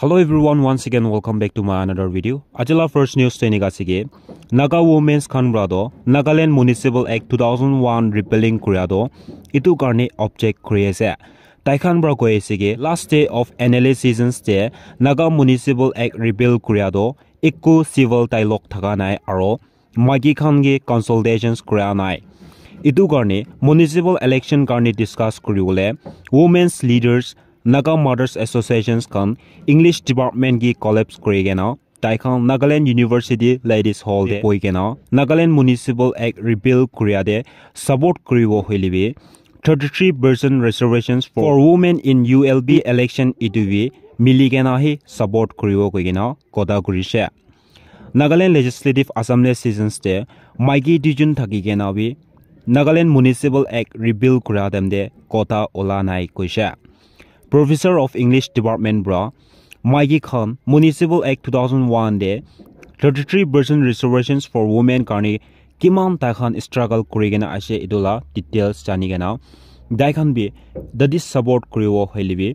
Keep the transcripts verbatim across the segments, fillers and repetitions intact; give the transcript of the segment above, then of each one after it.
Hello everyone, once again welcome back to my another video. Ajila first news te enika ase ki Naga women's khan pra do Nagaland Municipal Act two thousand one repealing kuria do itu karne object kuri ase. Tai khan pra koi ase ki last day of N L A sessions te Naga Municipal Act repeal kuria do ekko civil dialogue thaka nai aro maiki khan ke consultations kura nai. Itu karne municipal election karne discuss kuribole women's leaders, Naga Mothers Associations khan English Department ki collapse kuri kena tai khan Nagaland University Ladies Hall te boi kena Nagaland Municipal Act repeal kuria te support kuribo hoile bi thirty-three percent reservations for women in U L B election itu bi mili kena hi support kuribo koi kena kotha kurishe. Nagaland Legislative Assembly sessions te maiki duijun thaki kena bi Nagaland Municipal Act repeal kura time te kotha ola nai koishe. Professor of English Department pra maiki khan Municipal Act two thousand one te thirty-three percent reservations for women karne kiman tai khan struggle kuri kena ase itu la details jani kena tai khan bi dadi support kuribo hoile bi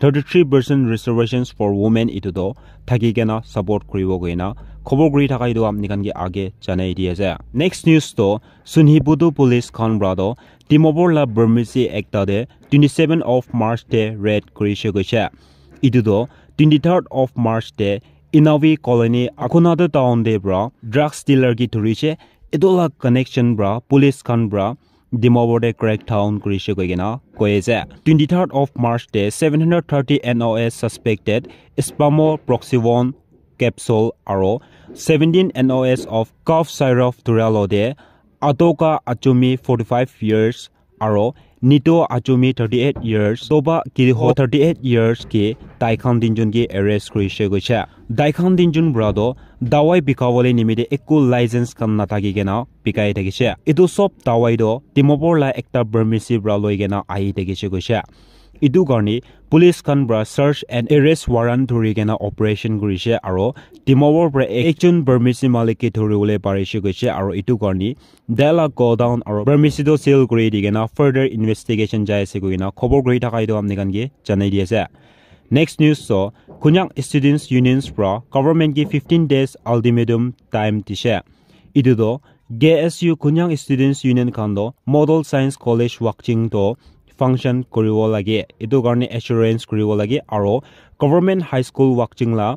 thirty-three percent reservations for women itu to thaki kena support kuribo koina khobor kuri thaka itu apni khan ke age janai di ase. Next news to Sunhibutu police khan pra to Dimapur la Burmese ekta te twenty-seven of March te raid kurishe koishe. Itu to twenty-third of March te Inavi Colony Akhunada town te pra drugs dealer ki dhurishe. Itu la connection pra police khan pra Dimapur te crackdown kurishe koi kena koi ase. Twenty-third of March te seven hundred thirty N O S suspected Spamo Proxivon capsule aro seventeen N O S of cough syrup dhuralo te Atoka Achumi forty-five years aro Nito Achumi thirty-eight years, Toba Kiriho thirty-eight years ke tai khan tinjun ke arrest kurishe koishe. Tai khan tinjun pra to dawai bikawole nimite ekko license khan nathaki kena bikai thakishe. Itu sob dawai to Dimapur la ekta Burmese pra loi kena ahi thakishe koishe. Itu karne police khan pra search and arrest warrant dhuri kena operation kurishe aro Dimapur pra ekjon Burmese malik ke dhuribole parishe koishe aro itu karne tai la godown aro Burmese to seal kuri di kena further investigation jai ase koi kena khobor kuri thaka itu apni khan ke janai di ase. Next news to Konyak Students Unions pra government ke fifteen days ultimatum time dishe. Itu to K S U Konyak Students Union khan to Model Science College Wakching to function kuribo lage. Itu karne assurance kuribo lage aro Government High School Wakching la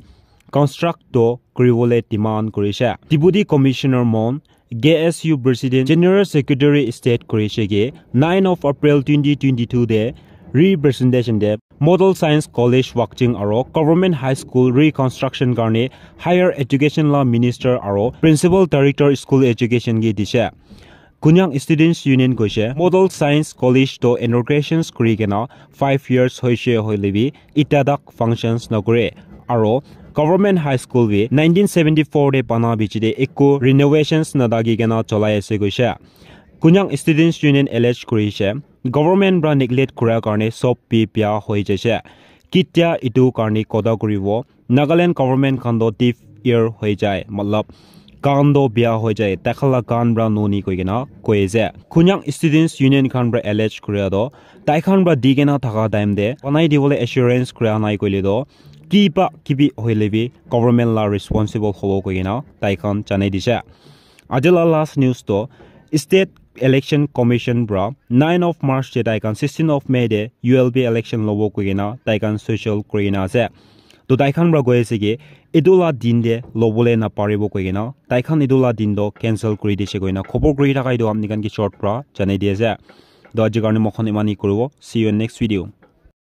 construct to kuribole demand kurishe. Deputy Commissioner Mon, K S U President, General Secretary State kurishe ke nine of April twenty twenty-two te representation te Model Science College Wakching aro Government High School reconstruction karne Higher Education la Minister aro Principal Director School Education ke dishe. Konyak Students Union koishe Model Science College to inaugurations kuri kena five years hoishe hoile bi itadak functions nakure aro Government High School bi nineteen seventy-four te bana bichi te ekko renovations nadagi kena cholai ase koishe. Konyak Students Union allege kurishe government pra neglect kura karne sob bi bia hoi jaishe. Kitia itu karne kotha kuribo Nagaland government khan to deaf ear hoi jai, matlab kan to bia hoi jai, tai khan la kan pra nuni koi kena koi ase. Konyak Students Union khan pra allege kuria to tai khan pra di kena thaka time te banai dibole assurance kuria nai koile to kiba kibi hoile bi government la responsible hobo koi kena tai khan janai dishe. Aji la last news to State Election Commission pra nine of March te tai khan sixteen of May te U L B election lobo koi kena tai khan social kuri kena ase. To tai khan pra koi ase ki etu la din te lobole naparibo koi kena tai khan etu la din to cancel kuri dishe koi kena khobor kuri thaka etu apni khan ke short pra janai di ase. To aji karne moi khan iman hi kuribo. See you in next video.